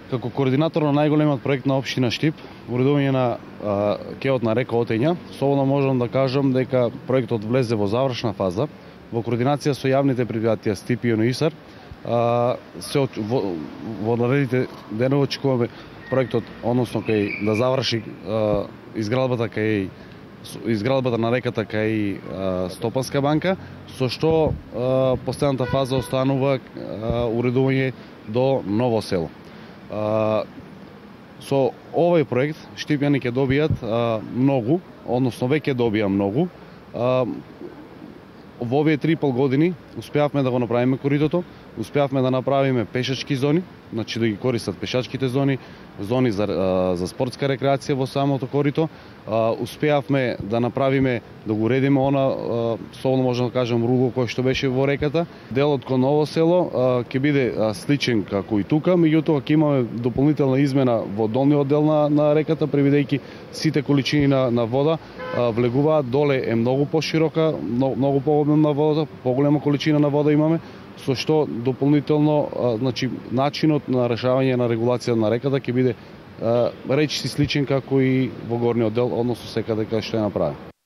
Како координатор на најголемиот проект на општина Штип, уредување на кеот на река Отења, слободно можам да кажам дека проектот влезе во завршна фаза. Во координација со јавните предпријатија Стип и ЮНИСАР, во наредните денови очекуваме проектот, односно кај да заврши изградбата на реката кај Стопанска банка, со што последната фаза останува уредување до Ново село. Со овој проект штипјани ќе добијат многу, односно веќе добија многу. Во овие 3,5 години успеавме да го направиме коридото, успеавме да направиме пешачки зони, значи да ги користат пешачките зони за спортска рекреација во самото корито. Успеавме да направиме, да го уредиме слободно можам да кажам, ругол кој што беше во реката. Делот кон Ново село ќе биде сличен како и тука, меѓутоа ќе имаме дополнителна измена во долниот дел на реката, превидејќи сите количини на вода влегуваат доле е многу поширока, многу пообемна водата, поголема количина на вода имаме, со што дополнително значи начинот на решавање на регулација на реката ќе биде речиси сличен како и во горниот дел, односно секаде каде што е направен.